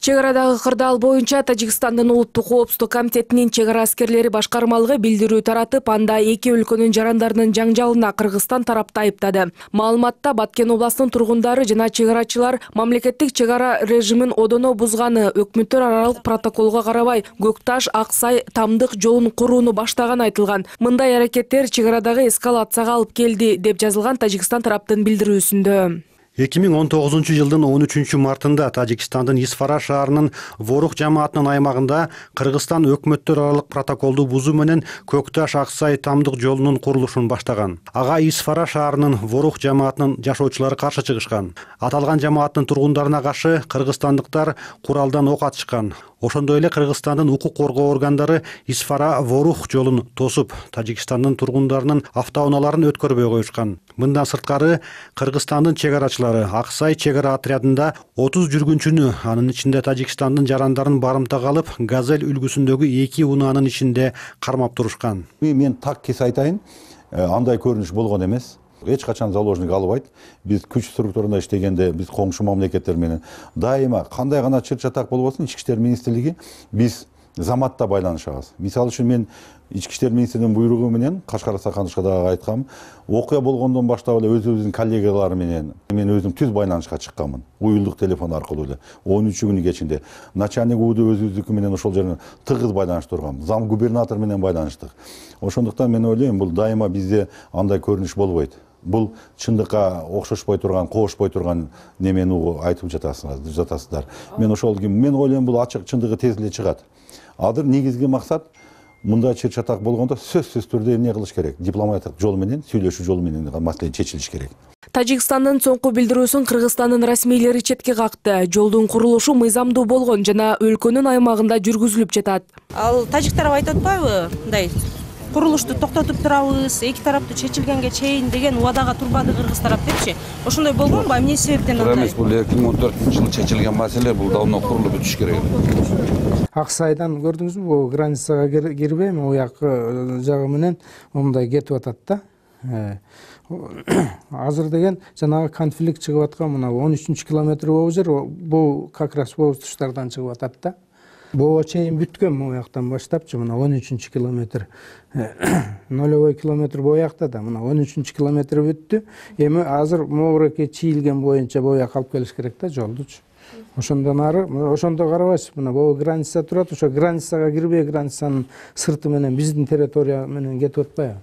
Чек арадагы кырдаал боюнча Тажикстандын улуттук коопсуздук комитетинин чек ара аскерлери башкармалыгы билдирүү таратып, анда эки өлкөнүн жарандарынын жаңжалына Кыргызстан тарапты айыптады. Маалыматта Баткен областынын тургундары жана чек арачылар мамлекеттик чек ара режимин одоно бузганы, өкмөттөр аралык протоколго карабай Көк Таш Аксай Тамдык жолун курууну баштаганы айтылган. Мындай аракеттер чек арадагы эскалацияга алып келди деп жазылган Тажикстан тараптын билдирүүсүндө. 2019 жылдын 13 мартында Тажикстандын Исфара шаарынын Ворух жамаатынын аймагында Кыргызстан өкмөттөр аралык протоколду бузуу менен Көк Таш Аксай Тамдык жолунун курулушун баштаган. Ага Исфара шаарынын Ворух жамаатынын жашоочулары каршы чыгышкан. Аталган жамааттын тургундарына каршы кыргызстандыктар куралдан ок атышкан. Ошондой эле Кыргызстандын укук коргоо органдары Исфара Ворух жолун тосуп, Тажикстандын тургундарынын автоунааларын өткөрбөй коюшкан. Мындан сырткары Кыргызстандын чек арачылары Аксай чек ара отрядында 30 жүргүнчүнү, анын ичинде Тажикстандын жарандарын барымтага алып, Газель үлгүсүндөгү 2 унаанын ичинде кармап турушкан. Мен так кес айтайын, андай көрүнүш болгон эмес. Эч качан заложник албайт. Биз күч структурында иштегенде, биз коңшу мамлекеттер менен дайыма кандай гана чыр-чатак болбосун, Ички иштер министрлиги биз заматта байланышабыз. Мисалы үчүн мен Ички иштер министринин буйругу менен Кашкар Саканышка дагы айткам. Окуя болгондон баштап эле өзүбүздүн коллегалар менен мен өзүм түз байланышка чыкканмын. Уюлдук телефон аркылуу эле 13 күнү кечинде начальник УД өзүбүздүкү менен ошол жерде тыгыз байланыштыргам. Зам губернатор менен байланыштык. Ошондуктан мен ойлойм, бул дайыма бизде андай көрүнүш болбойт. Бул чындыкка окшошпой турган, коошпой турган немени айтып жатасыздар. Мен ойлойм, бул ачык чындыгы тез эле чыгат. Азыр негизги максат мындай чыр-чатак болгондо сөзсүз түрдө эмне кылыш керек? Дипломатиялык жол менен, сүйлөшүү жолу менен маселе чечилиш керек. Тажикстандын соңку билдирүүсүн Кыргызстандын расмийлери четке какты. Жолдун курулушу мыйзамдуу болгон жана өлкөнүн аймагында жүргүзүлүп жатат. Ал тажиктар айтып атпайбы? Мындай курулушту токтотуп турабыз, эки тараптуу чечилгенге чейин деген убадага турбады Кыргыз тарап депчи. Ошондой болгонбу? Эмне себептен андай? Эмес, бул 2014-жылы чечилген маселе, бул давно курулуп бүтүш керек. Аксайдан көрдүңүзбү, бул границага кирбейм, уяк жагы менен мындай кетип атат да. Азыр деген жанагы конфликт чыгып аткан мына 13 километр бул жер, бул как раз бул туштардан чыгып атат да. Буга чейин бүткөн буяктан баштапчы, мына 13 километр. 0,5 километр буякта да, мына 13 километр бүттү. Эми азыр могуреке чийилген боюнча буяк алып келиш керек да жолдучу. Ошондон ары, ошондо карабайсыз, мына бул граница турат, ошо границага кирбей, границанын сырты менен биздин территория менен кетип атпайбы?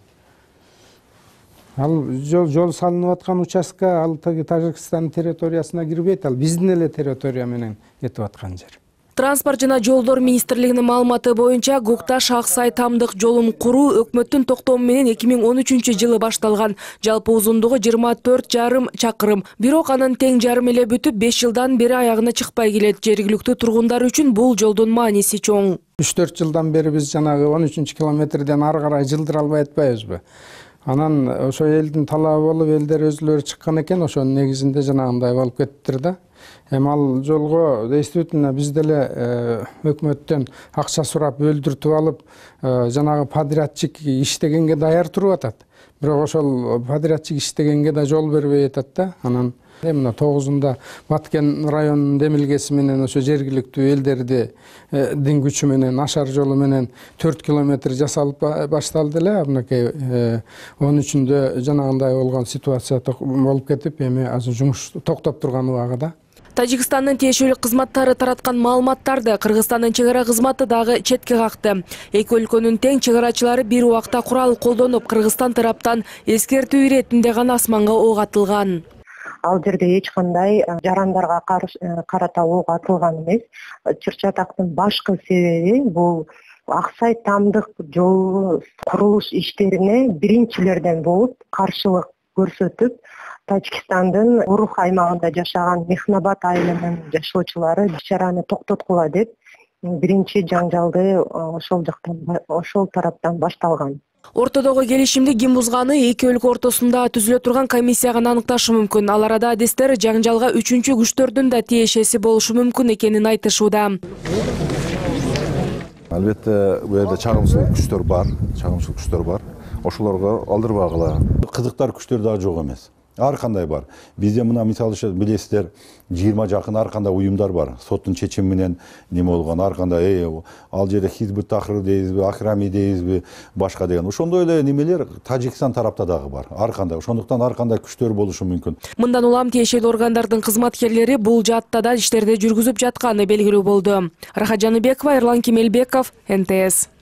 Ал жол салынып аткан участка, ал Тажикстандын территориясына кирбейт, ал биздин эле территория менен кетип аткан жер. Транспорт жана жолдор министрлигинин маалыматы боюнча Көк Таш Аксай Тамдык жолун куруу өкмөттүн токтому менен 2013-жылы башталган. Жалпы узундугу 24,5 чакырым. Бирок анын тең жарым эле бүтүп 5 жылдан бери аягына чыкпай келет. Жергиликтүү тургундар үчүн бул жолдун мааниси чоң. 3-4 жылдан бери биз жанагы 13 километрден ары карай жылдыра албай атпайбызбы? Анан ошо элдин талабы болуп, элдер өзүлөрү чыккан экен, ошонун негизинде жанагындай болуп кетиптир да. Эми ал жолго действительно биз деле өкмөттөн акча сурап өлдүртүп алып, жанагы подрядчик иштегенге даяр туруп атат. Бирок ошол подрядчик иштегенге да жол бербей атат да. Анан мына 9-унда Баткен районунун демилгеси менен ошо жергиликтүү элдердин күчү менен ашар жолу менен 4 километр жасалып башталды эле. Мынакей 13-үндө жанагындай болгон ситуация болуп кетип, эми азыр жумуш токтоп турган убагыда. Тажикстандын тиешелүү кызматтары тараткан маалыматтарды Кыргызстандын чек ара кызматы дагы четке какты. Эки өлкөнүн тең чек арачылары бир убакта курал колдонуп, Кыргызстан тараптан эскертүү иретинде гана асманга ок атылган. Ал жерде эч кандай жарандарга карата ок атылган эмес. Чыр-чатактын башкы себеби бул Аксай Тамдык жолу курулуш иштерине биринчилерден болуп каршылык көрсөтүп, Тажикстандын Урух аймагында жашаган Мехнабад айылынын жашоочулары иш-чараны токтоткула деп биринчи жаңжалды ошол тараптан башталган. Ортодогу келишимди ким бузганы эки өлкө ортосунда түзүлө турган комиссия гана аныкташы мүмкүн. Ал арада адистер жаңжалга үчүнчү күчтөрдүн да тиешеси болушу мүмкүн экенин айтышууда. Албетте, бу жерде чагымчылык күчтөр бар, Ошолорго алдырбагыла. Кызыктар күчтөр дагы жок эмес. ар кандай бар. Бизде мына мисалы үчүн билесиздер 20 жакын ар кандай уюмдар бар. Соттун чечими менен неме болгон ар кандай ал жерде Хизбут Тахрир дейбизби, Акрами дейбизби, башка деген. Ошондой эле немелер Тажикстан тарапта дагы бар. Ар кандай. Ошондуктан ар кандай күчтөр болушу мүмкүн. Мындан улам тиешелүү органдардын кызматкерлери бул жаатта да иштерди жүргүзүп жатканы белгилүү болду. Рахат Жаныбекова, Эрлан Кемелбеков, НТС.